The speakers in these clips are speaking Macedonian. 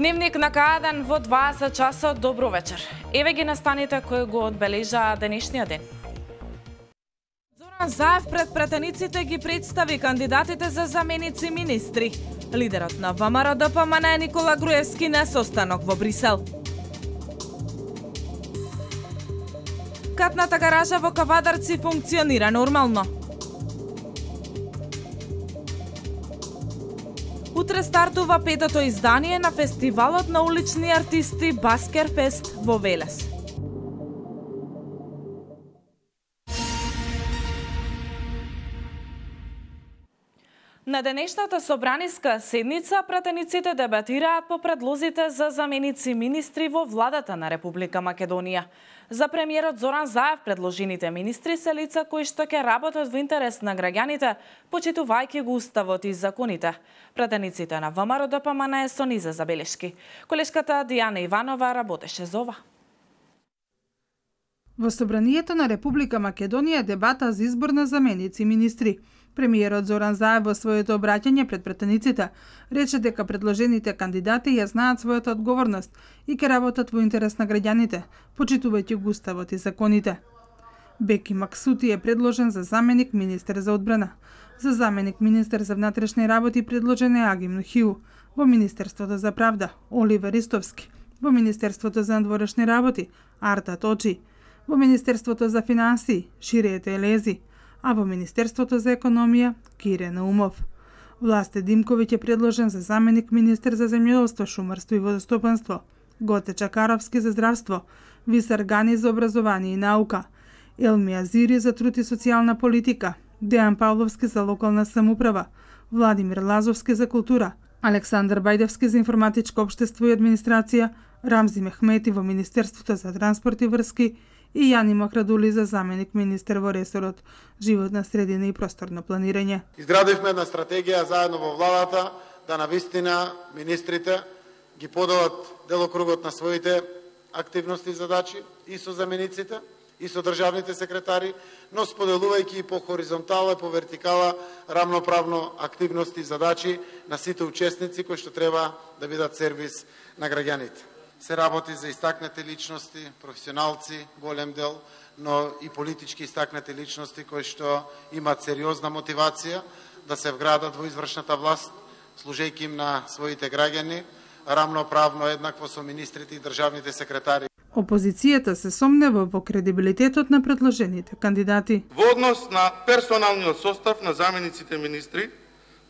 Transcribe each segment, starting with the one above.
Дневник на К1 во 20 часот. Добро вечер. Еве ги настаните кои го одбележаа денешниот ден. Зоран Заев пред пратениците ги представи кандидатите за заменици министри. Лидерот на ВМРО-ДПМН Никола Груевски на состанок во Брисел. Катната гаража во Кавадарци функционира нормално. Утре стартува петото издание на фестивалот на улични артисти Баскерфест во Велес. На денешната собраниска седница пратениците дебатираат по предлозите за заменици министри во владата на Република Македонија. За премиерот Зоран Заев предложените министри се лица кои што ќе работат во интерес на граѓаните, почитувајќи го уставот и законите. Пратениците на ВМРО-ДПМН со низа забелешки. Колешката Дијана Иванова работеше за ова. Во собранието на Република Македонија дебата за избор на заменици министри. Премиерот Зоран Заев во своето обраќање пред пратениците рече дека предложените кандидати ја знаат својата одговорност и ќе работат во интерес на граѓаните, почитувајќи го уставот и законите. Беки Максути е предложен за заменик министер за одбрана. За заменик министер за внатрешни работи предложен е Агим Нухиу. Во Министерството за правда Оливер Истовски. Во Министерството за надворешни работи Арта Точи. Во Министерството за финансии Шириете Елези. А во Министерството за економија Кире Наумов. Власте Димковиќ е предложен за заменик министер за земјоделство, шумарство и водостопанство, Гоце Чакаровски за здравство, Висар Гани за образование и наука, Елми Азири за труд и социјална политика, Дејан Павловски за локална самоуправа, Владимир Лазовски за култура, Александар Бајдевски за информатичко општество и администрација, Рамзи Мехмети во Министерството за транспорт и врски и Јани Макрадули за заменик министер во ресорот животна средина и просторно планирање. Изградивме една стратегија заедно во владата да навистина министрите ги поделат делокругот на своите активности и задачи и со замениците и со државните секретари, но споделувајќи и по хоризонтала и по вертикала рамноправно активности и задачи на сите учесници кои што треба да бидат сервис на граѓаните. Се работи за истакнати личности, професионалци, голем дел, но и политички истакнати личности кои што имаат сериозна мотивација да се вградат во извршната власт, служејќи им на своите граѓани, рамноправно еднакво со министрите и државните секретари. Опозицијата се сомнева во кредибилитетот на предложените кандидати. Во однос на персоналниот состав на замениците министри,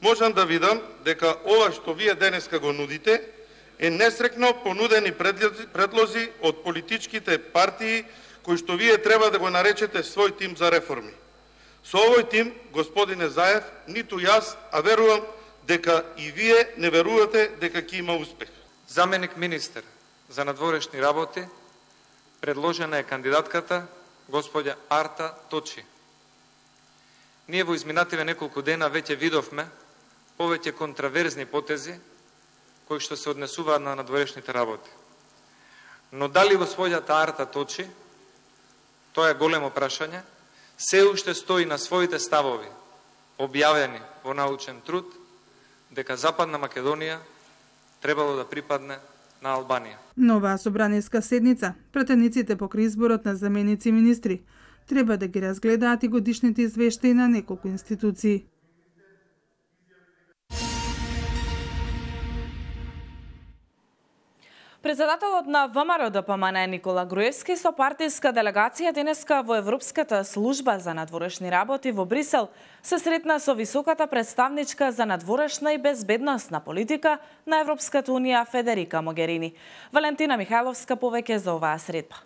можам да видам дека ова што вие денеска го нудите е несрекно понудени предлози од политичките партии кои што вие треба да го наречете свој тим за реформи. Со овој тим, господине Заев, ниту јас, а верувам дека и вие не верувате дека ќе има успех. Заменик министер за надворешни работи предложена е кандидатката господја Арта Точи. Ние во изминативе неколку дена веќе видовме повеќе контраверзни потези кои што се однесуваат на надворешните работи. Но дали господјата Арта Точи, тоа е големо прашање, се уште стои на своите ставови, објавени во научен труд, дека Западна Македонија требало да припадне на Албанија. Нова собраниска седница, пратениците покрај изборот на заменици министри, треба да ги разгледаат и годишните извештаи на неколку институции. Председателот на ВМРО-ДПМН Никола Груевски со партиска делегација денеска во Европската служба за надворешни работи во Брисел се сретна со високата представничка за надворешна и безбедносна политика на Европската унија Федерика Могерини. Валентина Михајловска повеќе за оваа средба.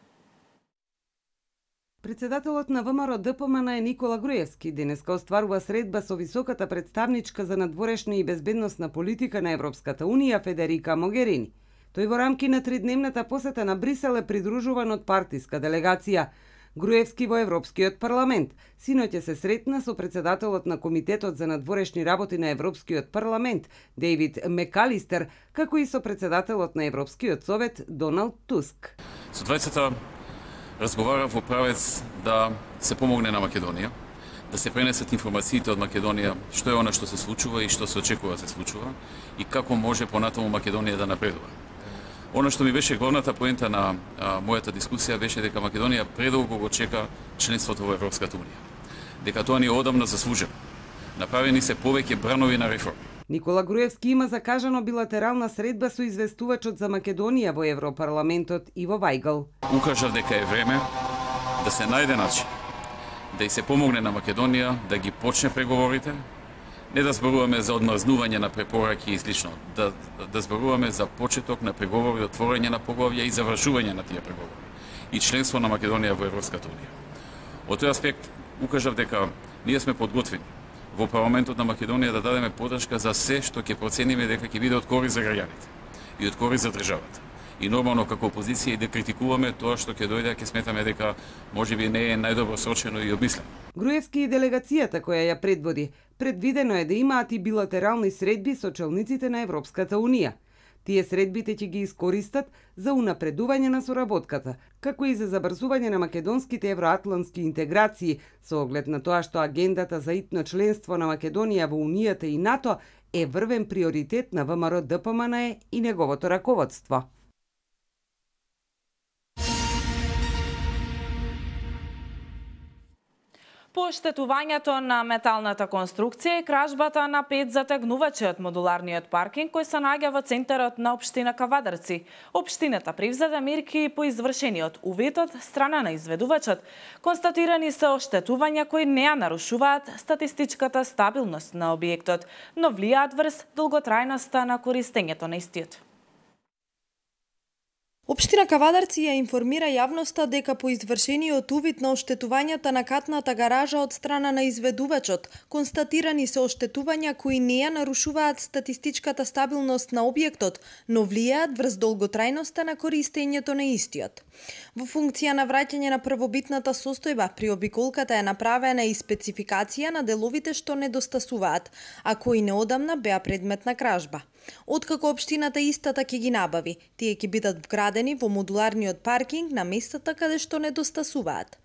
Председателот на ВМРО-ДПМН Никола Груевски денеска остварува средба со високата представничка за надворешна и безбедносна политика на Европската унија Федерика Могерини. Тој во рамки на тридневната посета на Брисел е придружуван од партиска делегација. Груевски во Европскиот парламент синоќа се сретна со председателот на Комитетот за надворешни работи на Европскиот парламент Дейвид Мекалистер, како и со председателот на Европскиот совет Доналд Туск. Со двајцата разговарав во правец да се помогне на Македонија, да се пренесат информациите од Македонија, што е она што се случува и што се очекува да се случува и како може понатаму Македонија да напредува. Она што ми беше главната поента на мојата дискусија беше дека Македонија предолго го чека членството во Европската унија. Дека тоа ни е одамна заслужено. Направени се повеќе бранови на реформи. Никола Груевски има закажано билатерална средба со известувачот за Македонија во Европарламентот Иво Вајгал. Укажав дека е време да се најде начин да и се помогне на Македонија да ги почне преговорите, не да зборуваме за одмрзнување на препораки и слично, да зборуваме за почеток на преговори, отворање на поглавја и завршување на тие преговори и членство на Македонија во Европската унија. Од тој аспект укажав дека ние сме подготвени во парламентот на Македонија да дадеме подршка за се што ќе процениме дека ќе биде од корист за граѓаните и од корист за државата. И нормално како опозиција и да критикуваме тоа што ќе дојде, ќе сметаме дека можеби не е најдобро сочено и обмислено. Груевски и делегацијата која ја предводи, предвидено е да имаат и билатерални средби со челниците на Европската унија. Тие средбите ќе ги искористат за унапредување на соработката, како и за забрзување на македонските евроатлантски интеграции, со оглед на тоа што агендата за итно членство на Македонија во Унијата и НАТО е врвен приоритет на ВМРО-ДПМНЕ и неговото раководство. По оштетувањето на металната конструкција и кражбата на 5 затегнувачи од модуларниот паркинг кој се наоѓа во центарот на општина Кавадарци, општината превзеде мерки по извршениот увид од страна на изведувачот. Констатирани се оштетувања кои не ја нарушуваат статистичката стабилност на објектот, но влијаат врз долготрајноста на користењето на истиот. Општина Кавадарци ја информира јавноста дека по извршениот увид на оштетувањата на катната гаража од страна на изведувачот, констатирани се оштетувања кои не ја нарушуваат статистичката стабилност на објектот, но влијаат врз долготрајноста на користењето на истиот. Во функција на враќање на првобитната состојба, при обиколката е направена и спецификација на деловите што недостасуваат, а кои неодамна беа предмет на кражба. Откако општината истата ќе ги набави, тие ќе бидат вградени во модуларниот паркинг на местата каде што недостасуваат.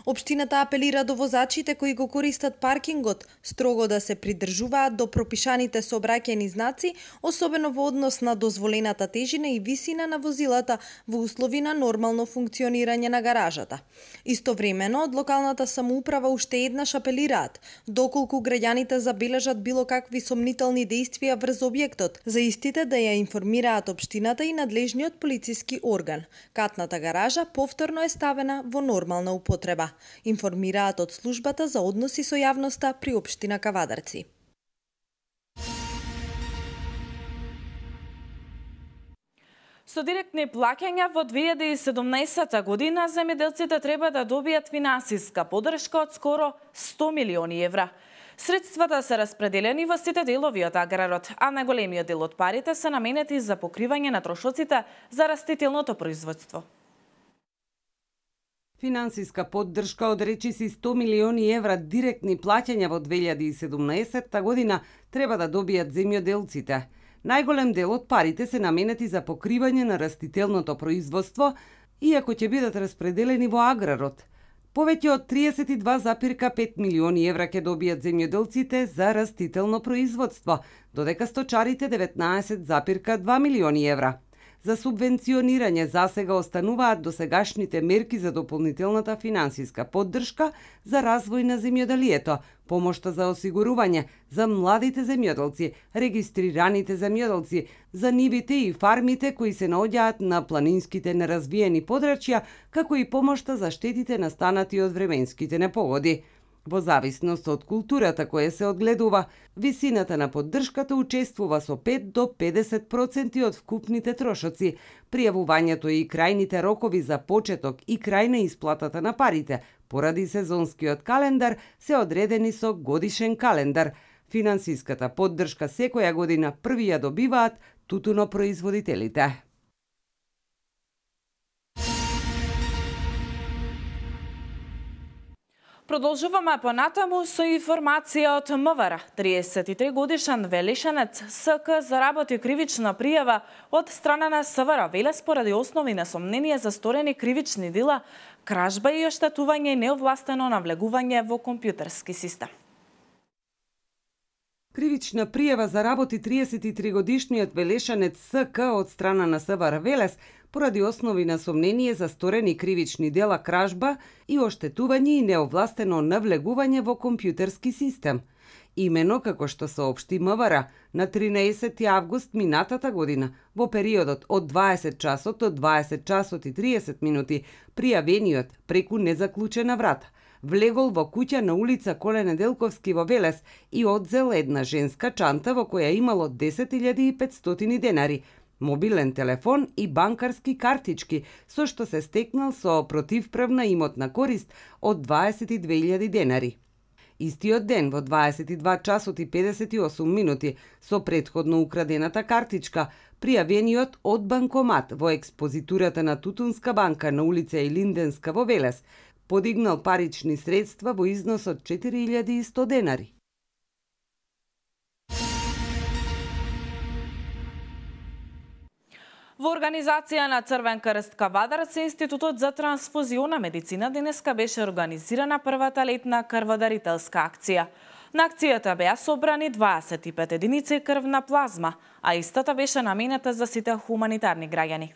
Општината апелира до возачите кои го користат паркингот строго да се придржуваат до пропишаните сообраќајни знаци, особено во однос на дозволената тежина и висина на возилата во услови на нормално функционирање на гаражата. Истовремено, од локалната самоуправа уште еднаш апелираат, доколку граѓаните забележат било какви сомнителни дејствија врз објектот, за истите да ја информираат општината и надлежниот полициски орган. Катната гаража повторно е ставена во нормална употреба, информираат од службата за односи со јавноста при општина Кавадарци. Со директни плаќања во 2017 година земјоделците треба да добијат финансиска поддршка од скоро 100 милиони евра. Средствата се распределени во сите делови од аграрот, а најголемиот дел од парите се наменети за покривање на трошоците за растителното производство. Финансиска поддршка од речиси 100 милиони евра директни плаќања во 2017 година треба да добијат земјоделците. Најголем дел од парите се наменети за покривање на растителното производство, иако ќе бидат распределени во аграрот. Повеќе од 32,5 милиони евра ќе добијат земјоделците за растително производство, додека сточарите 19,2 милиони евра. За субвенционирање засега остануваат досегашните мерки за дополнителната финансиска поддршка за развој на земјоделието, помошта за осигурување за младите земјоделци, регистрираните земјоделци, за нивите и фармите кои се наоѓаат на планинските неразвиени подрачја, како и помошта за штетите настанати од временските непогоди. Во зависност од културата која се одгледува, висината на поддршката учествува со 5 до 50% од вкупните трошоци. Пријавувањето и крајните рокови за почеток и крај на исплатата на парите, поради сезонскиот календар, се одредени со годишен календар. Финансиската поддршка секоја година први ја добиваат тутунопроизводителите. Продолжуваме понатаму со информација од МВР. 33 годишен Велишенец СК заработи кривична пријава од страна на СВР Велес поради основи на сомнение за сторени кривични дела, кражба и оштетување и неовластено навлегување во компјутерски систем. Кривична пријава заработи 33-годишниот велешанец СК од страна на СВР Велес поради основи на сомнение за сторени кривични дела кражба и оштетување и неовластено навлегување во компјутерски систем. Имено, како што соопшти МВР, на 13 август минатата година, во периодот од 20 часот до 20 часот и 30 минути, пријавениот преку незаклучена врата влегол во куќа на улица Коле Неделковски во Велес и одзел една женска чанта во која имало 10.500 денари, мобилен телефон и банкарски картички, со што се стекнал со противправна имотна корист од 22.000 денари. Истиот ден во 22 часот и 58 минути со претходно украдената картичка, пријавениот од банкомат во експозитурата на Тутунска банка на улица Илинденска во Велес подигнал парични средства во износ од 4100 денари. Во организација на Црвен крст Кавадарци, Институтот за трансфузиона медицина денеска беше организирана првата летна крводарителска акција. На акцијата беа собрани 25 единици крвна плазма, а истата беше наменета за сите хуманитарни граѓани.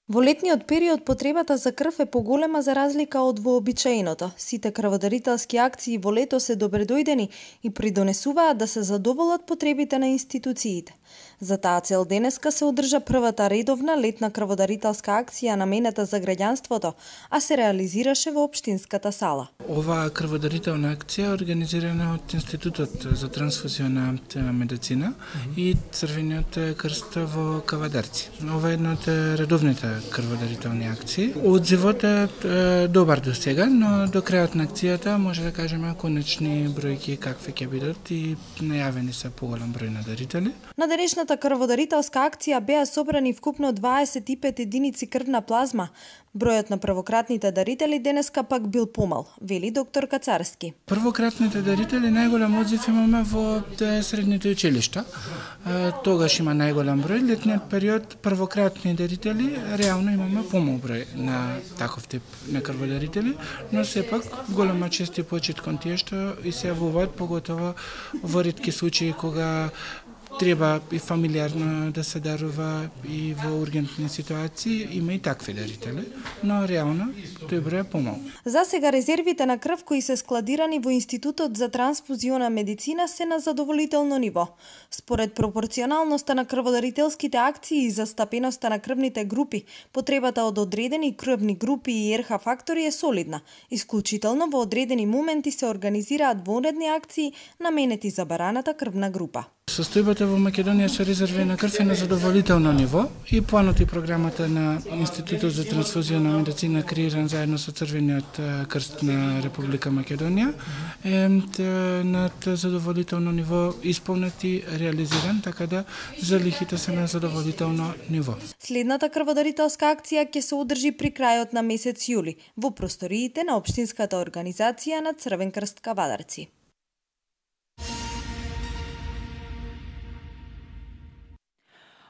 Во летниот период потребата за крв е поголема за разлика од вообичаеното. Сите крводарителски акции во лето се добредојдени и придонесуваат да се задоволат потребите на институциите. За таа цел денеска се одржа првата редовна летна крводарителска акција наменета за граѓанството, а се реализираше во општинската сала. Оваа крводарителна акција е организирана од Институтот за трансфузиона медицина и Црвениот крст во Кавадарци. Ова е една од редовните крводарителни акции. Одзивот е добар до сега, но до крајот на акцијата може да кажеме конечни бројки какви ќе бидат и најавени се поголем број на дарители. На денешната крводарителска акција беа собрани вкупно 25 единици крвна плазма. Бројот на првократните дарители денеска пак бил помал, вели доктор Кацарски. Првократните дарители најголем одзив имаме во средните училишта. Тогаш има најголем број. Летниот период првократни дарители реално имаме помал број на таков тип на крводарители, но сепак голема чест и почит кон тие што и се јавуваат, поготово во ретки случаи кога треба и фамилиарно да се дарува и во ургентни ситуации, има и такви дарители, но реално тој број е помал. За сега резервите на крв кои се складирани во Институтот за трансфузиона медицина се на задоволително ниво. Според пропорционалноста на крводарителските акции и застапеноста на крвните групи, потребата од одредени крвни групи и РХ фактори е солидна. Исклучително во одредени моменти се организираат вонредни акции наменети за бараната крвна група. Состојбата во Македонија со резерви на крв е на задоволително ниво и планот и програмата на Институтот за трансфузиона медицина креиран заедно со Црвениот крст на Република Македонија е на задоволително ниво исполнет и реализиран, така да залихите се на задоволително ниво. Следната крводарителска акција ќе се одржи при крајот на месец јули во просториите на општинската организација на Црвен крст Кавадарци.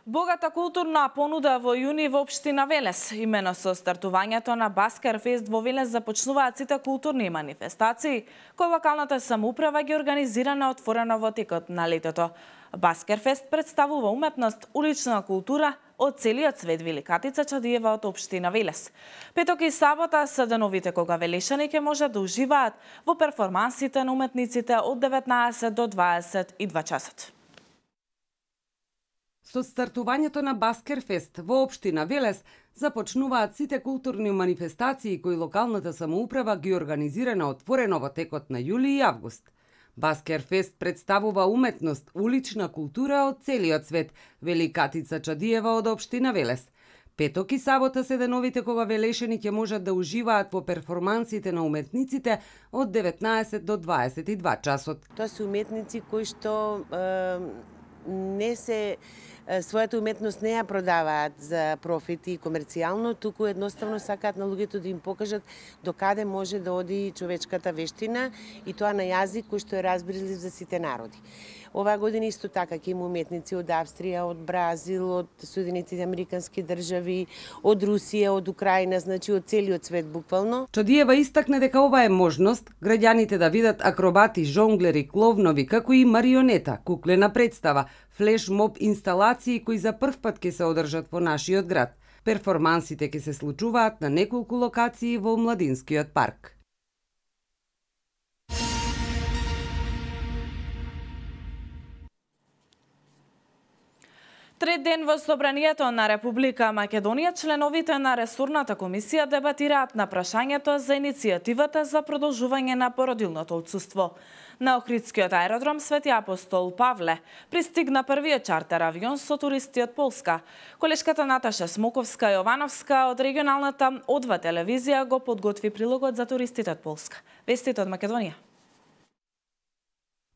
Богата културна понуда во јуни во општина Велес. Имено со стартувањето на Баскер Фест во Велес започнуваат сите културни манифестации кои локалната самоуправа ги организира на отворено во текот на летото. Баскер Фест представува уметност, улична култура од целиот свет, вели Катица Чадиева од општина Велес. Петок и сабота се деновите кога велешани ќе можат да уживаат во перформансите на уметниците од 19 до 22 часот. Со стартувањето на Баскер Фест во општина Велес започнуваат сите културни манифестации кои локалната самоуправа ги организира на отворено во текот на јули и август. Баскер Фест представува уметност, улична култура од целиот свет, вели Катица Чадиева од општина Велес. Петок и сабота се деновите кога велешани ќе можат да уживаат во перформансите на уметниците од 19 до 22 часот. Тоа се уметници кои што не се својата уметност не ја продаваат за профит и комерцијално, туку едноставно сакаат на луѓето да им покажат до каде може да оди човечката вештина и тоа на јазик кој што е разбирлив за сите народи. Оваа година исто така ќе има уметници од Австрија, од Бразил, од Соединетите американски држави, од Русија, од Украина, значи од целиот свет буквално. Чадиева истакна дека ова е можност граѓаните да видат акробати, жонглери, кловнови, како и марионета, куклена представа, флеш-моб инсталации кои за прв пат ќе се одржат во нашиот град. Перформансите ќе се случуваат на неколку локации во Младинскиот парк. Трет ден во Собранието на Република Македонија, членовите на ресорната комисија дебатираат на прашањето за иницијативата за продолжување на породилното отсуство. На Охридскиот аеродром Свети Апостол Павле пристигна првиот чартер авион со туристи од Полска. Колешката Наташа Смоковска-Јовановска од регионалната Одва телевизија го подготви прилогот за туристите од Полска. Вестите од Македонија.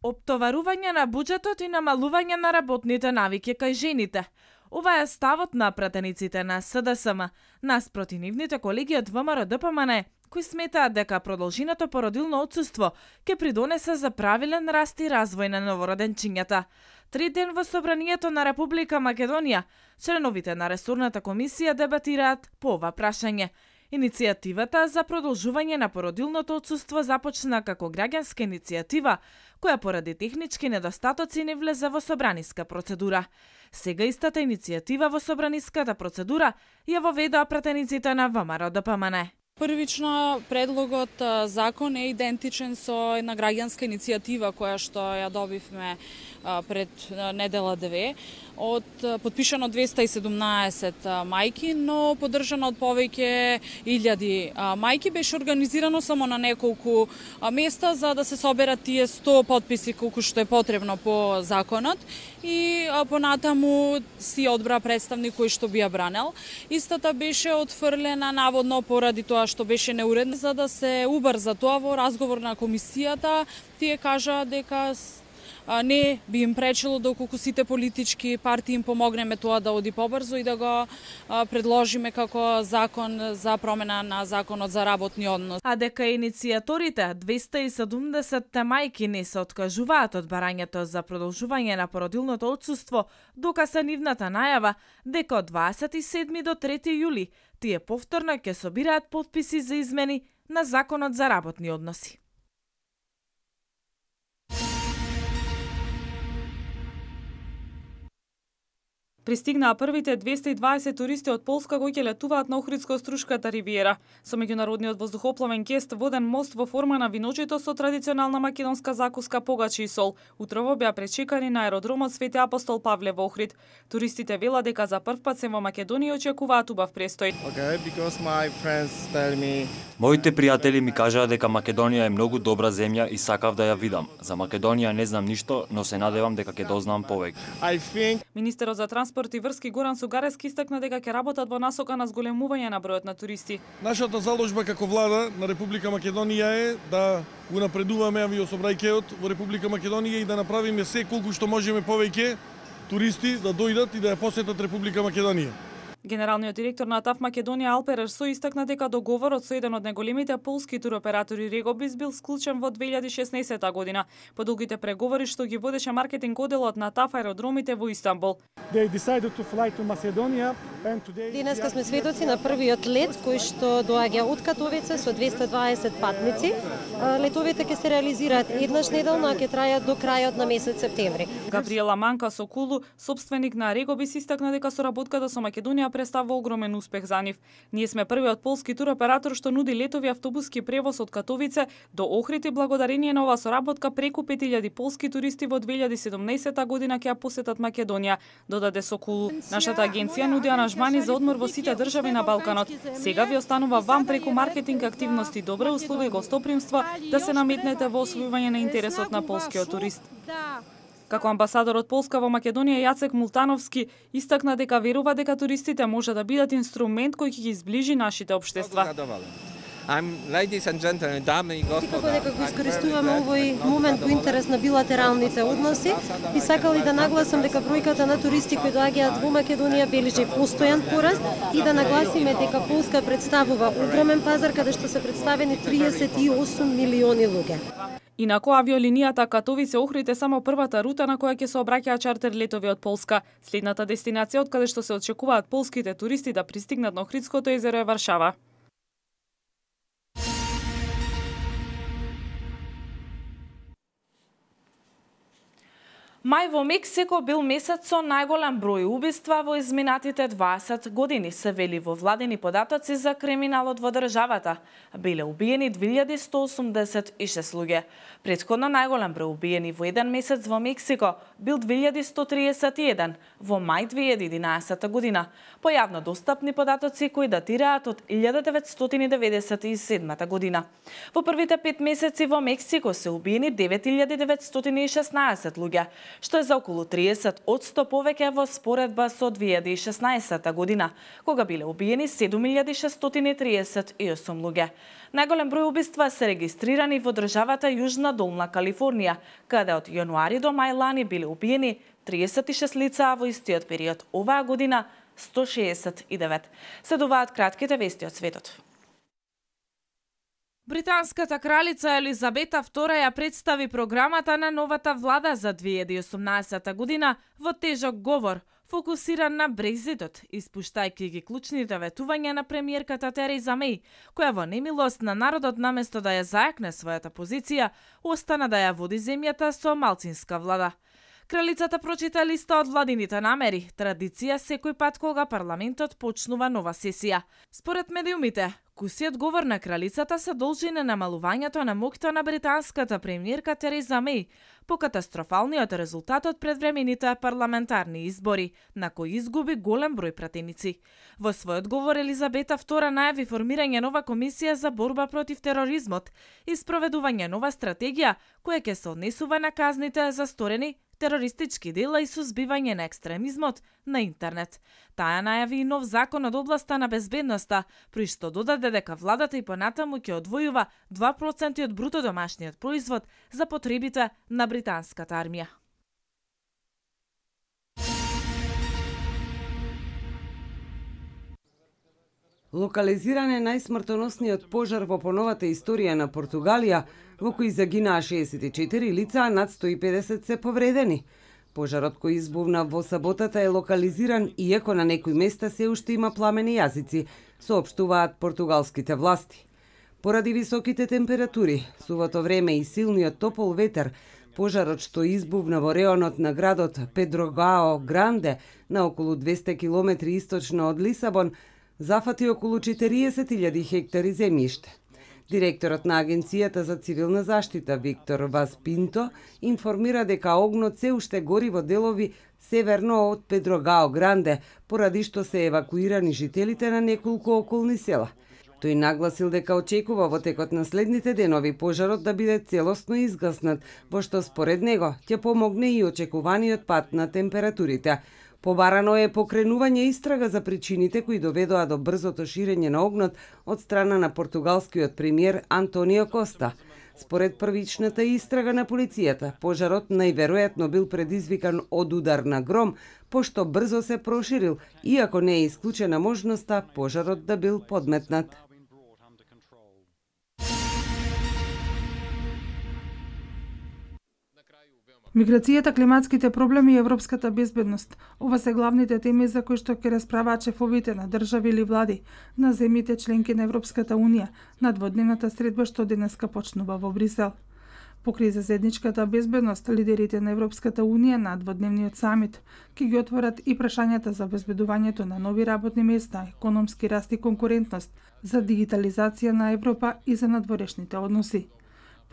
Оптоварување на буџетот и намалување на работните навики кај жените. Ова е ставот на пратениците на СДСМ, наспроти нивните колеги од ВМРО-ДПМН, кои сметаат дека продолженото породилно отсуство ќе придонесе за правилен раст и развој на новороденчињата. Трет ден во Собранието на Република Македонија, членовите на ресорната комисија дебатираат по ова прашање. Иницијативата за продолжување на породилното отсуство започна како граѓанска иницијатива, која поради технички недостатоци не влезе во собраниска процедура. Сега истата иницијатива во собраниската процедура ја воведоа пратениците на ВМРО-ДПМН. Првично, предлогот закон е идентичен со една граѓанска иницијатива која што ја добивме пред недела 2 од подпишано 217 мајки, но поддржано од повеќе илјади мајки. Беше организирано само на неколку места за да се соберат тие 100 подписи колку што е потребно по законот и понатаму си одбра представник кој што би ја бранел. Истата беше отфрлена наводно поради тоа што беше неуредна. За да се убрза тоа во разговор на комисијата, тие кажа дека не би им пречело доколку сите политички партии им помогнеме тоа да оди побрзо и да го предложиме како закон за промена на законот за работни односи. А дека иницијаторите 270 мајки не се откажуваат од барањето за продолжување на породилното отсуство, докаса нивната најава дека од 27 до 3 јули тие повторно ќе собираат потписи за измени на законот за работни односи. Пристигнаа првите 220 туристи од Полска кои ќе летуваат на Охридско-Струшката ривиера со меѓународниот воздухопловен кест воден мост во форма на виночито со традиционална македонска закуска погачи и сол. Утрово беа пречекани на аеродромот Свети Апостол Павле во Охрид. Туристите велат дека за прв пат се во Македонија и очекуваат убав престој. Моите пријатели ми кажаа дека Македонија е многу добра земја и сакав да ја видам. За Македонија не знам ништо, но се надевам дека ќе дознам повеќе. Министерот за транспорт и врски Горан Сугарески истакна дека ќе работат во насока на зголемување на бројот на туристи. Нашата заложба како влада на Република Македонија е да го напредуваме авиособрајкеот во Република Македонија и да направиме се колку што можеме повеќе туристи да дојдат и да ја посетат Република Македонија. Генералниот директор на ТАФ Македонија Алпер Ерсо истакна дека договорот со еден од најголемите полски туроператори Регобис бил склучен во 2016 година по долгите преговори што ги водеше маркетинг одделот на ТАФ аеродромите во Истанбул. Денеска сме сведоци на првиот лет кој што доаѓа од Катовице со 220 патници. Летовите ќе се реализираат еднаш неделно, а ќе трајат до крајот на месец септември. Габриела Манка Сокулу, собственик на Регобис, истакна дека соработката со Македонија представува огромен успех за нив. Ние сме првиот полски туроператор што нуди летови автобуски превоз од Катовице до Охрид и благодарение на оваа соработка преку 5000 полски туристи во 2017 година ќе ја посетат Македонија, додаде Сокулу. Нашата агенција нуди аранжмани за одмор во сите држави на Балканот. Сега ви останува вам преку маркетинг активности, добра услуга и гостопримства да се наметнете во освојување на интересот на полскиот турист. Како амбасадор од Полска во Македонија Јацек Мултановски истакна дека верува дека туристите може да бидат инструмент кој ќе ги зближи нашите општества. Ladies and gentlemen, dame и господа. Секако дека го искористуваме овој момент во интерес на билатералните односи и сакали да нагласам дека бројката на туристи кои доаѓаат во Македонија бележи постојан пораст и да нагласиме дека Полска представува огромен пазар каде што се представени 38 милиони луѓе. Инаку авиолинијата Катовице-Охрид е само првата рута на која ќе се обраќаат чартер летови од Полска. Следната дестинација од каде што се очекуваат полските туристи да пристигнат на Охридското езеро е Варшава. Мај во Мексико бил месец со најголем број убиства во изминатите 20 години, се вели во владени податоци за криминалот во државата. Биле убиени 2186 луѓе. Претходно најголем број убиени во еден месец во Мексико бил 2131 во мај 2011 година, по јавно достапни податоци кои датираат од 1997 година. Во првите 5 месеци во Мексико се убиени 9916 луѓе, што е за околу 30% повеќе во споредба со 2016 година, кога биле убиени 7638 луѓе. Најголем број убиства се регистрирани во државата Јужна Долна Калифорнија, каде од јануари до мај лани биле убиени 36 лица, а во истиот период оваа година 169. Следуваат кратките вести од светот. Британската кралица Елизабета II ја представи програмата на новата влада за 2018 година во тежок говор, фокусиран на Брекзитот, испуштајќи ги клучните ветувања на премиерката Тереза Меј, која во немилост на народот наместо да ја зајакне својата позиција, остана да ја води земјата со малцинска влада. Кралицата прочита листа од владините намери, традиција секој пат кога парламентот почнува нова сесија. Според медиумите, кусиот говор на кралицата се должи на намалувањето на моќта на британската премиерка Тереза Меј по катастрофалниот резултат од предвремените парламентарни избори, на кои изгуби голем број пратеници. Во својот говор Елизабета II најави формирање нова комисија за борба против тероризмот и спроведување нова стратегија која ќе се однесува на казните за сторени терористички дела и сузбивање на екстремизмот на интернет. Таа најави и нов закон од областа на безбедноста, при што додаде дека владата и понатаму ќе одвојува 2% од бруто домашниот производ за потребите на британската армија. Локализиран е најсмртоносниот пожар во поновата историја на Португалија, во кој загинаа 64 лица, а над 150 се повредени. Пожарот кој избувна во саботата е локализиран, иако на некои места се уште има пламени јазици, соопштуваат португалските власти. Поради високите температури, сувото време и силниот топол ветер, пожарот што избувна во реонот на градот Педрогао Гранде, на околу 200 км источно од Лисабон, зафати околу 40.000 хектари земјиште. Директорот на Агенцијата за цивилна заштита Виктор Вас Пинто информира дека огнот се уште гори во делови северно од Педрогао Гранде, поради што се евакуирани жителите на неколку околни села. Тој нагласил дека очекува во текот на следните денови пожарот да биде целосно изгаснат, во што според него ќе помогне и очекуваниот пат на температурите. Побарано е покренување истрага за причините кои доведоа до брзото ширење на огнот од страна на португалскиот премиер Антонио Коста. Според првичната истрага на полицијата, пожарот најверојатно бил предизвикан од удар на гром, пошто брзо се проширил, иако не е исклучена можноста пожарот да бил подметнат. Миграцијата, климатските проблеми и европската безбедност. Ова се главните теми за кои што ќе расправаат шефовите на држави или влади на земјите членки на Европската Унија на дводневната средба што денеска почнува во Брисел. Покрај заедничката безбедност, лидерите на Европската Унија на дводневниот самит ќе ги отворат и прашањата за обезбедувањето на нови работни места, економски раст и конкурентност, за дигитализација на Европа и за надворешните односи.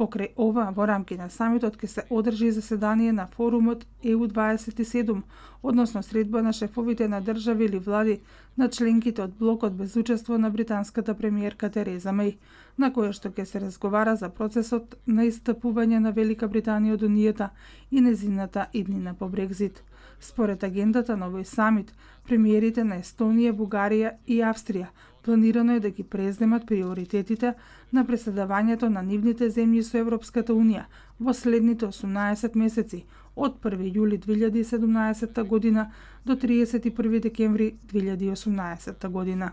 Покрај ова, во рамки на самитот ќе се одржи заседание на форумот EU27, односно средба на шефовите на држави или влади на членките од блокот без учество на британската премиерка Тереза Меј, на која што ќе се разговара за процесот на истапување на Велика Британија од Унијата и незината иднина по Брекзит. Според агендата на овој самит, премиерите на Естонија, Бугарија и Австрија планирано е да ги преземат приоритетите на преседавањето на нивните земји со Европската Унија во следните 18 месеци, од 1 јули 2017 година до 31 декември 2018 година.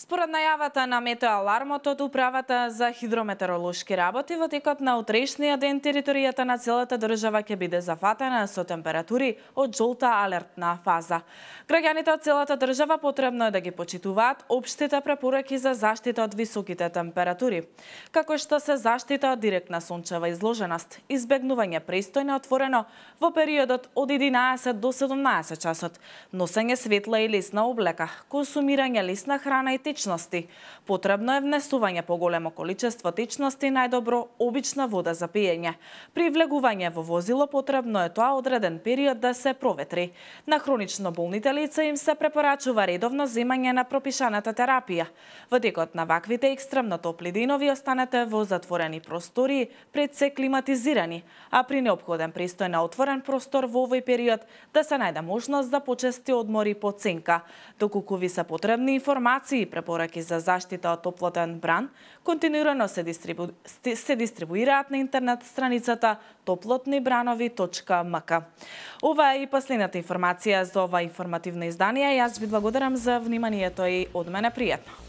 Според најавата на метеоалармот од Управата за хидрометеоролошки работи, во текот на утрешниот ден територијата на целата држава ќе биде зафатена со температури од жолта алертна фаза. Граѓаните од целата држава потребно е да ги почитуваат општите препораки за заштита од високите температури, како што се заштита од директна сончева изложеност, избегнување престој на отворено во периодот од 11 до 17 часот, носење светла и лесна облека, консумирање лесна храна и течности. Потребно е внесување поголемо количество течности, најдобро обична вода за пиење. При влегување во возило потребно е тоа одреден период да се проветри. На хронично болните лица им се препорачува редовно земање на пропишаната терапија. Во текот на ваквите екстремно топли денови останете во затворени простори, пред се климатизирани, а при неопходен престој на отворен простор во овој период да се најде можност за почести одмори по ценка. Доколку ви се потребни информации и препораки за заштита од топлотен бран, континуирано се дистрибуираат на интернет страницата toplotnibранови.mk. Ова е и последната информација за ова информативно издание. Јас ви благодарам за вниманието и од мене пријатно.